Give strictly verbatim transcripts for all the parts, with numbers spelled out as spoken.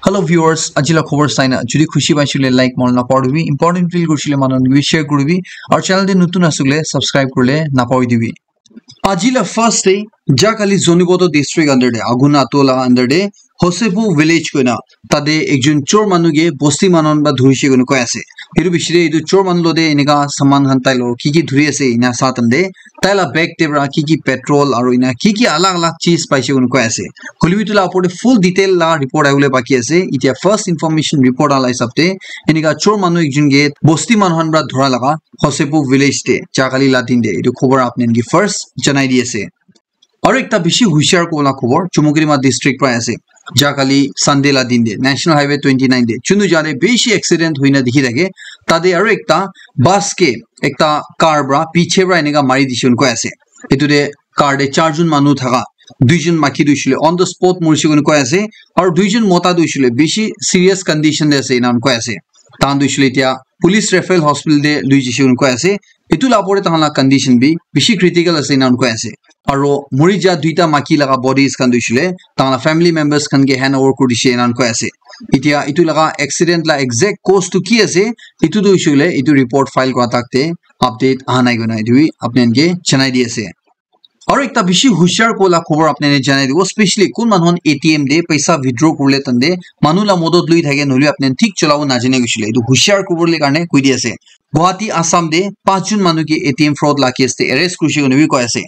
Hello viewers, aji la khobor saina jodi khushi paisile like manu na paribi, important feel kurisile manu khan ke share kuribi, aru channel te notun asile subscribe kurile na paribi. Aji la first te Jahkhali Zunheboto district under te Aguna Tola under te Hosepu village koina tate ekjon chor manu ke bosti manu khan para dhurise koina koi ase. Etu bishi te etu chor manu lote enika saman khan tai lo ki ki dhuri ase ena sa tande tai la bag te para ki ki petrol aru ena ki ki alag alag cheez paise koina koi ase. Hoilebi etu la opor te full detail la report ahibole baki ase. Etia first information report ala hisab te enika chor manu ekjon ke bosti manu khan para dhura laga Hosepu village te Jahkhali la din te etu khobor apni khan ke first janai di ase. Aru ekta bishi hushar kola khobor Chumukedima district para ase. Jahkhali Sunday la din te National Highway twenty nine te chunu jate bishi accident hoina dikhi thake. Tate aru ekta bus ke ekta car para piche para enika mari dise koina koi ase. Etu te car te charjon manu thaka, duijon maiki tu hoishe koile on the spot morise koina koi ase, aru duijon mota tu hoishe koile bishi serious condition te ase ena koi ase. Tahan tu hoishe koile etia police referral hospital te lui jaise koina koi ase. Etu la opor te tahan la condition bi bishi critical ase ena koi ase. Aru mori ja duita maiki laga bodies khan tu hoishe koile tahan la family members khan ke hand over kuri dise ena koi ase. Etia etu laga accident la exact cause tu ki ase, etu tu hoishe koile etu report file kura tak te update aha nai koina etu bi apni khan ke janai di ase. Aru ekta bishi hushar kola khobor apni khan ke janai dibo, specially kun manu khan A T M te paisa withdraw kurile tande manu la modot lui thake nohole apni khan thik cholabo najane koishe koile etu hushar kuribole karne koi di ase. Guwahati, Assam te panch jon manu ke A T M fraud la case te arrest kurishe koina bi koi ase.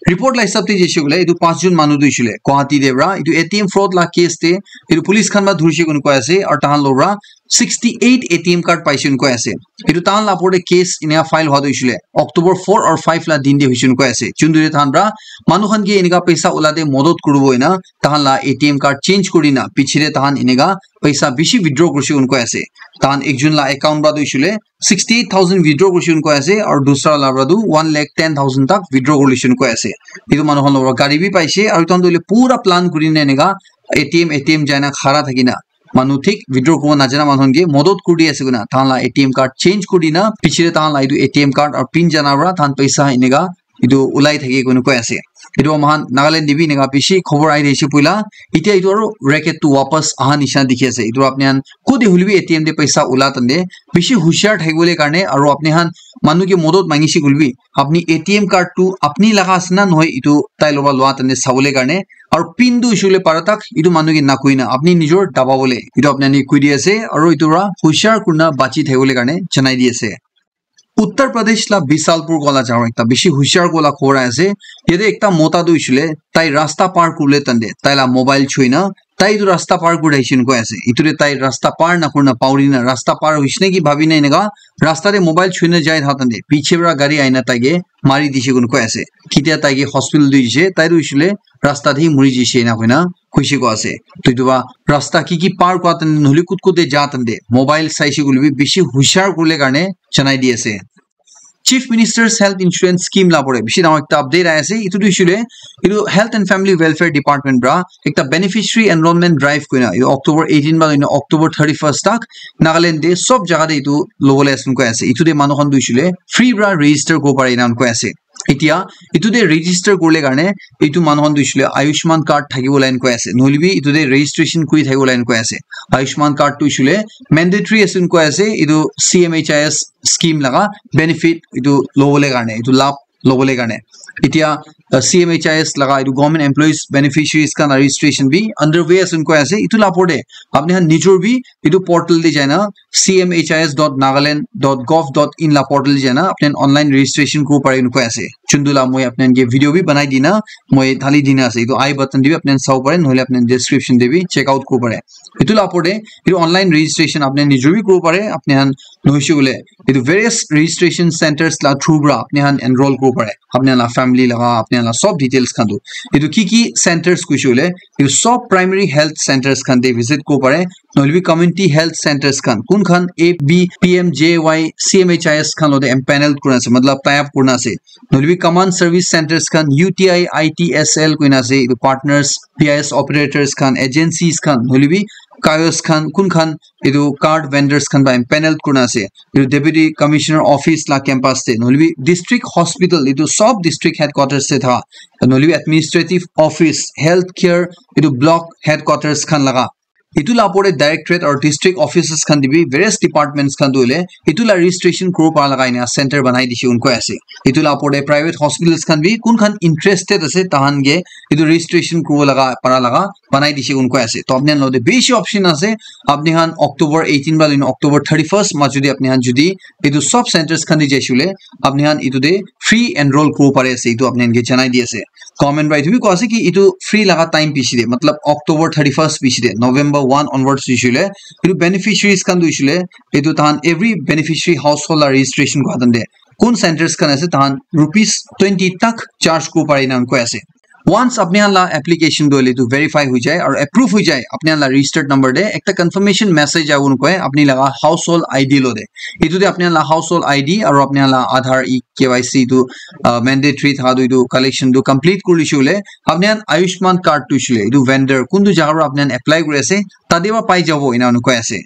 Report la hisab te jaise koile etu panch jon manu tu hoishe koile Guwahati te para etu A T M fraud la case te etu police khan para dhurishe koina koi ase aru tahan logot para sixty eight A T M card paise koina koi ase. Etu tahan la opor te case ena file hua tu hoishe koile October four or five la din te hoise koina koi ase. Jun tu tahan para manu khan ke enika paisa ula te modot kuribo ena tahan la A T M card change kuri na piche te tahan enika paisa bishi withdraw kurishe koina koi ase. Tahan ekjon la account para tu hoishe koile sixty eight thousand withdraw kurishe koina koi ase aru dusra la para tu one lakh ten thousand tak withdraw kurishe koina koi ase. Etu manu khan logot gari bi paise aru tahan tu hoile pura plan kuri na enika A T M, A T M jai na khara thaki na manu thik withdraw kuribo najana manu khan ke modot kuri di ase koina tahan la A T M card change kuri di na piche te tahan la etu A T M card aru pin jana para tahan paisa enika etu ulai thake koina koi ase. Etu moikhan Nagaland te bi enika bishi khobor ahi thakise puila. Etia etu aru racket tu wapas aha nishina dikhi ase. Etu apni khan kode hoilebi A T M te paisa ula tande bishi hushar thakibole karne aru apni khan manu ke modot mangise koilebi apni A T M card tu apni laga ase na nohoi etu tai loba lua tande sabole karne aru pin tu hoishe koile para tak etu manu ke nakoi na apni nijor dababole etu apni khan ke koi di ase aru etu para hushar kurina bachi thakibole karne janai di ase. Uttar Pradesh la Bisalpur kola jagah ekta bishi hushar kola khobor ahi ase. Yate ekta mota tu hoishe koile tai rasta par kuribole tande tai la mobile choi na tai etu rasta par kuri thakishe koina koi ase. Etu te tai rasta par nakuri na pauri na rasta par hoishe naki bhabi na enika rasta te mobile choi na jai thaka tande piche para gari ahi na tai ke mari dise koina koi ase. Ketia tai ke hospital lui jaise tai tu hoishe koile rasta te hi mori jaise ena koina koise koi ase. To etu para rasta ki ki par kura tande nohole kut kut te ja tande mobile saise koile bi bishi hushar kuribole karne janai di ase. Chief Minister's Health Insurance Scheme la pore bishi dangor ekta update ahi ase. Etu tu hoishe koile etu Health and Family Welfare Department para ekta beneficiary enrollment drive koina etu October eighteen para etu October thirty first tak Nagaland te sob jaga te etu lobole ase koi ase. Etu te manu khan tu hoishe koile free para register kuribo pare ena koi ase. Etia etu te register kurile karne etu manu khan tu hoishe koile Ayushman card thakibo laga koi ase. Nohole bi etu te registration kuri thakibo laga koi ase. Ayushman card tu hoishe koile mandatory ase koi ase. Etu C M H I S scheme laga benefit etu lobole karne, etu labh lobole karne. Etia uh, C M H I S laga etu government employees beneficiaries khan registration bi underway ase koi ase. Etu la opor te apni khan nijor bi etu portal te jai na C M H I S dot nagaland dot gov dot in la portal te jai na apni khan online registration kuribo pare koi ase. Chundu la moi apni khan ke video bi banai di na moi thali di na ase. Etu I button te bi apni khan sabo pare nohole apni khan description te bi check out kuribo pare. Etu la opor te etu online registration apni khan nijor bi kuribo pare. Apni khan nohoishe koile etu various registration centers la through para apni khan enroll kuribo pare. Apni khan la family laga, apni khan la sob details khan tu. Etu ki ki centers koishe koile etu sob primary health centers khan te visit kuribo pare. Nohole bi community health centers khan kun khan A B, P M J Y, C M H I S khan lote empaneled kurina ase, matlab tie up kurina ase. Nohole bi common service centers khan U T I, I T S L koina ase, etu partners, P I S operators khan, agencies khan, nohole bi kiosk khan, kun khan etu card vendors khan para empaneled kurina ase. Etu Deputy Commissioner Office la campus te, nohole bi district hospital, etu sob district headquarters te tha, nohole bi administrative office, health care, etu block headquarters khan laga Etu la opor te directorate or district offices khan te bi various departments khan tu hoile etu la registration kuro para laga ena center banai dise kun koi ase. Etu la opor te private hospitals khan bi kun khan interested ase tahan ke etu registration kuro laga para laga banai dise kun koi ase. To apni khan lo te bishi option ase. Apni khan October eighteen ba loina October thirty-first majo te apni khan jodi etu sub centers khan te jaishe hoile apni khan etu te free enroll kuro pare ase. Etu apni khan ke janai di ase. Government para etu bi koi ase ki etu free laga time bishi te, matlab October thirty-first bishi te, November one onwards bishi le, etu beneficiaries khan tu bishi le, etu tahan every beneficiary household la registration kora tan te, kun centers khan ase tahan rupees twenty tak charge kuro pare ena koi ase. Once apni khan la application tu hoile tu verify hoi jai aru approve hoi jai, apni khan la registered number te ekta confirmation message agun koi apni laga household I D lo de. Etu te apni khan la household I D aru apni khan la Aadhaar e K Y C tu uh, mandatory thaka tu etu collection tu complete kuri lishe hoile apni khan Ayushman card tu hoishe hoile etu vendor kuntu jaga para apni khan apply kuri ase tate para pai jabo ena koi ase.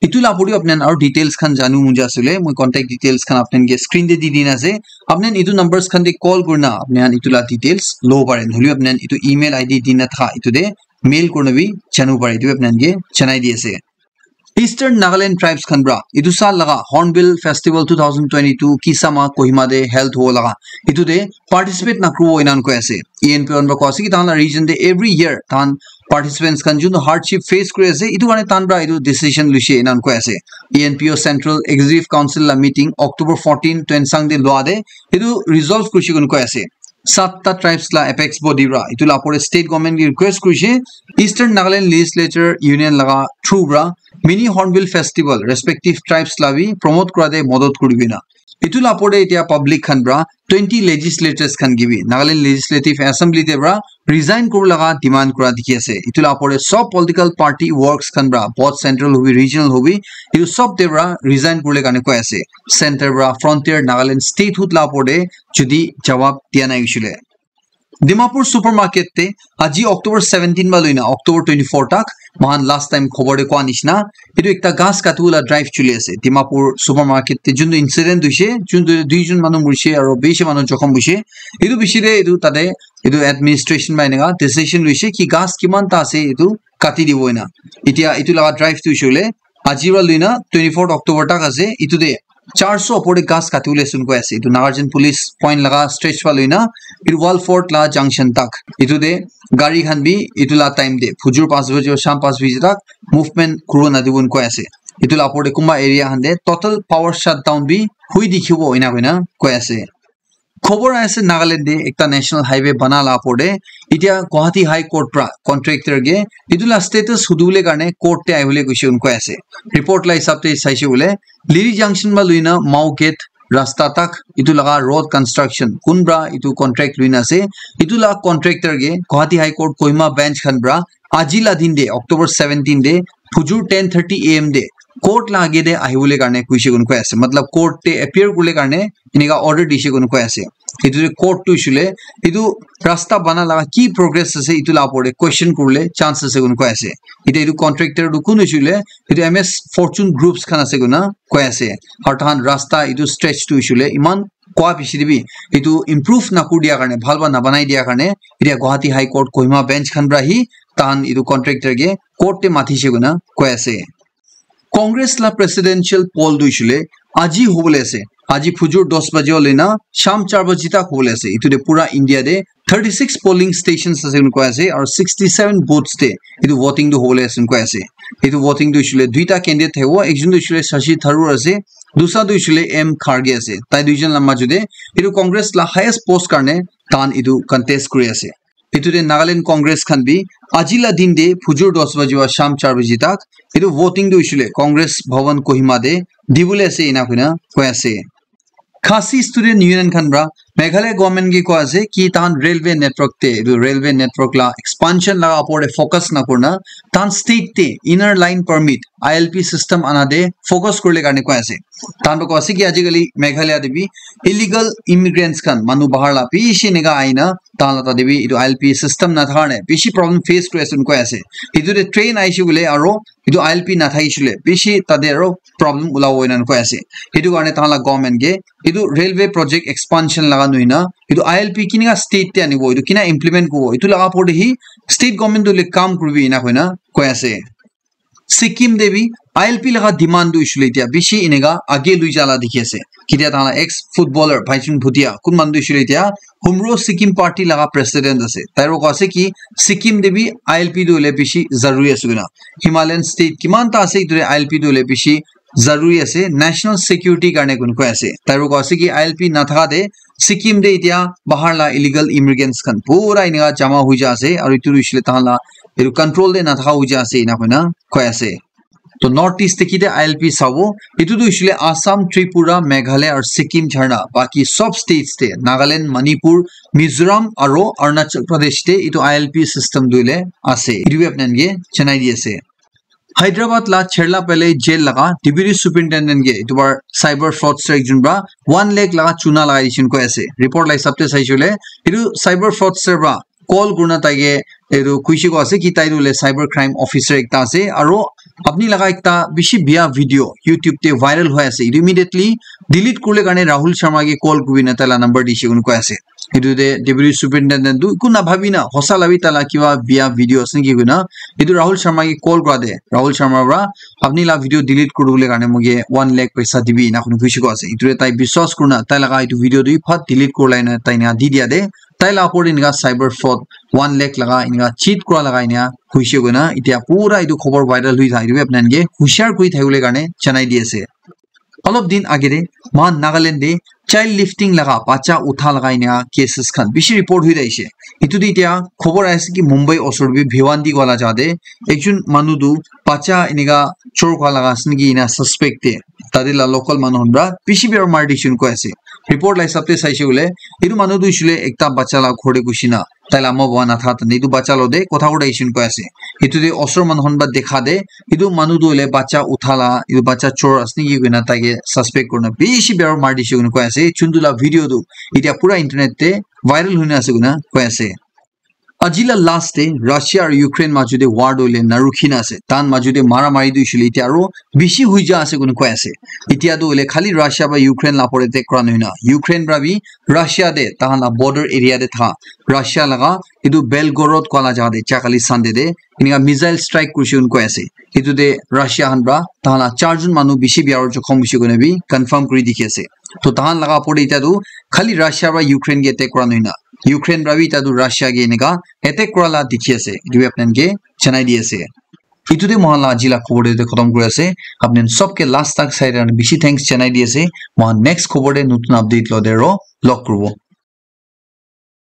Etu la opor te apni khan aru details khan janu mon jai ase hoile moi contact details khan apni khan ke screen te di dina ase. Apni khan etu numbers khan te call kurina apni khan etu la details lo pare, nohole apni khan etu email I D dina thaka etu te mail kurina bi janu pare, etu apni khan ke janai di ase. Eastern Nagaland tribes khan para etu saal laga Hornbill Festival two thousand twenty-two Kisama Kohima te held hobo laga etu te participate nakuribo ena koi ase. E N P O khan para koi ase ki tahan la region te every year tahan participants khan jun hardship face kuri ase etu karne tahan para etu decision luise ena koi ase. E N P O Central Executive Council la meeting October fourteen Tuensang te lua te etu resolve kurise koina koi ase. Satta tribes la apex body para etu la opor te state government ke request kurise Eastern Nagaland Legislature Union laga through para mini Hornbill Festival respective tribes la bi promote kura te modot kuribi na. Etu la opor te etia public khan para twenty legislators khan ke bi Nagaland Legislative Assembly te para resign kuri laga demand kura dikhi ase. Etu la opor te sob political party works khan para both central hobi regional hobi etu sob te para resign kuri le karne koi ase. Center para frontier Nagaland statehood la opor te jodi jawab dia nai hoishe le. Dimapur supermarket te aji October seventeen ba loina October twenty-four tak mohan last time khobor te koa nishina etu ekta ghas katibo la drive chuli ase. Dimapur supermarket te juntu incident hoise, juntu duijon manu morise aru bishi manu jokhom hoise. Etu bishi te etu tate etu administration ba eneka decision loise ki ghas kiman ta ase etu kati dibo ena. Etia etu laga drive tu hoishe hoile aji para loina twenty-fourth October tak ase. Etu te charso opor te ghas kati bole ase koi ase. Etu Nagarjan police point laga stretch para loina etu wall fort la junction tak. Etu te gari khan bi etu la time te phujur panch baje aru sham panch baje tak movement kuribo nadibo koi ase. Etu la opor te kunba area khan te total power shutdown bi hui dikhibo ena koina koi ase. Khobor aise Nagaland te ekta national highway bana la opor te etia Guwahati High Court pra contractor ke etu la status hudibole karne court te ahibole koise koi ase. Report la hisab te saise koile Liri Junction pra luina Mao Gate rasta tak etu laga road construction kunpra etu contract luina ase etu la contractor ke Guwahati High Court Kohima bench khan pra aji la din te October seventeen te phujur ten thirty A M te court la age te ahibole karne koise koi ase, matlab court te appear kurle karne enika order dise koi ase. Etu court tu hoishe le etu rasta bana laga ki progress ase etu la opor te question kurle chance ase koi ase. Etia etu contractor tu kun hoishe le etu M S Fortune Groups khan ase koina koi ase. Aru tahan rasta etu stretch tu hoishe le eman koa bishi te bi etu improve na kuri dia karne, bhal para na banai dia karne etia Guwahati High Court Kohima bench khan pra hi tahan etu contractor ke court te mathishe koina koi ase. Congress la presidential poll tu hoishe le aji hobole ase. Aji phujur dos baje hoile na sham char baje tak hobole ase. Etu te pura India te thirty six polling stations ase koi ase aru sixty seven booths te etu voting tu hobole ase koi ase. Etu voting tu hoishe le duita candidate thakibo, ekjon tu hoishe le Shashi Tharoor ase, dusra tu hoishe le M Kharge ase. Tai duijon la majo te etu Congress la highest post karne tahan etu contest kuri ase. Etu te Nagaland Congress khan bi aji la din te phujur dos baji wa sham char baji tak etu voting tu hoishe le Congress Bhavan Kohima te dibole ase ena koina koi ase. Khasi Student Union khan pra Meghalaya government ke koi ase ki tahan railway network te, etu railway network la expansion la opor te focus na kurina tahan state te inner line permit, I L P system ana te focus kurle karne koi ase. Tahan pra koi ase ki ajikali Meghalaya te bi illegal immigrants khan, manu bahar la bishi enika ahina tahan la tate bi etu I L P system nathaka karne bishi problem face kuri ase koi ase. Etu te train ahishe koile aro etu I L P nathakishe koile bishi tate aro problem ulabo ena koi ase. Etu karne tahan la government ke etu railway project expansion laga nohoina etu I L P kinika state te anibo, etu kina implement kuribo, etu laga opor te hi state government tu hoile kam kuribi ena koina koi ase. Sikkim te bi I L P laga demand tu hoishe koile etia bishi eneka age lui jala dikhi ase. Ketia tahan la ex footballer Bhaichung Bhutia, kun manu tu hoishe koile etia Humro Sikkim Party laga president ase. Tai ro ase ki Sikkim te bi I L P tu hoile bishi zaruri ase koina. Himalayan state kiman ta ase, etu te I L P tu hoile bishi zaruri ase, national security karne kun koi ase. Tai ro ase ki I L P nathaka te Sikkim te etia bahar la illegal immigrants khan pura eneka jama hoi ja ase, aru etu hoishe koile tahan la etu control te nathaka hoi ja ase, ena koina koi ase. To North East te kite I L P sabo, etu tu hoishe koile Assam, Tripura, Meghalaya aru Sikkim chhadna, baki sob states te, Nagaland, Manipur, Mizoram aru Arunachal Pradesh te etu I L P system tu hoile ase. Etu bi apni khan ke janai di ase. Hyderabad la Cherlapally jail laga deputy superintendent ke etu bar cyber fraudster ekjon pra one lakh laga chuna lagai dishi koi ase. Report la hisab te saishe koile etu cyber fraudster pra call kurina tai ke etu kuishe koi ase ki tai tu hoile cyber crime officer ekta ase, aru apni laga ekta bishi bia video YouTube te viral hoi ase, etu immediately delete kurle karne Rahul Sharma ke call kurina tai la number dishi koi ase. Etu te deputy superintendent tu eku na bhabi na hosa la bi tai la kiba bia video ase naki koina etu Rahul Sharma ke call kura te Rahul Sharma pra apni la video delete kuribole karne moike one lakh paisa dibi ena koi kena kuishe koi ase. Etu te tai biswas kurina tai laga etu video tu bi phat delete kurlai na tai ena di dia te tai la opor te eneka cyber fraud one lakh laga eneka cheat kura laga eneka hoishe koina etia pura etu khobor viral hoi thaka etu bi apni khan ke hushar kuri thakibole karne janai di ase. Olop din age te moikhan Nagaland te child lifting laga, bacha utha laga eneka cases khan bishi report hoi thakishe. Etu te etia khobor aise ki Mumbai osor te bi Bhiwandi kowa la jaga te ekjon manu tu bacha eneka chor kura laga ase naki ena suspect te tate la local manu khan pra bishi biya mari dishi koi ase. Report la hisab te saishe koile etu manu tu hoishe koile ekta bacha la ghor te gushi na tai la ama baba nathaka tane etu bacha lo te kotha kura dishi koi ase. Etu te osor manu khan pra dekha te etu manu tu hoile bacha utha la, etu bacha chor ase naki koina tai ke suspect kurina bishi biya para mari dishi koina koi ase. Juntu la video tu etia pura internet te viral hoina ase koina koi ase. Aji la last te Russia aru Ukraine maju te war tu hoile narukhi na ase. Tahan maju te mara mari tu hoishe koile etia aru bishi hoi ja ase koina koi ase. Etia tu hoile khali Russia ba Ukraine la opor te attack kura nohoi na, Ukraine pra bi Russia te tahan la border area te tha Russia laga etu Belgorod kowa la jaga te ja kali Sunday te eneka missile strike kurishe koina koi ase. Etu te Russia khan pra tahan la char jon manu bishi biya para jokhom hoishe koina bi confirm kuri dikhi ase. To tahan laga opor te etia tu khali Russia pra Ukraine ke attack kura nohoi na, Ukraine pra bi etia tu Russia ke eneka attack kura la dikhi ase. Etu bi apni khan ke janai di ase. Etu te moikhan la aji la khobor te khotom kuri ase. Apni khan sob ke last tak sai karne bishi thanks janai di ase. Moikhan next khobor te notun update lo te ro log kuribo.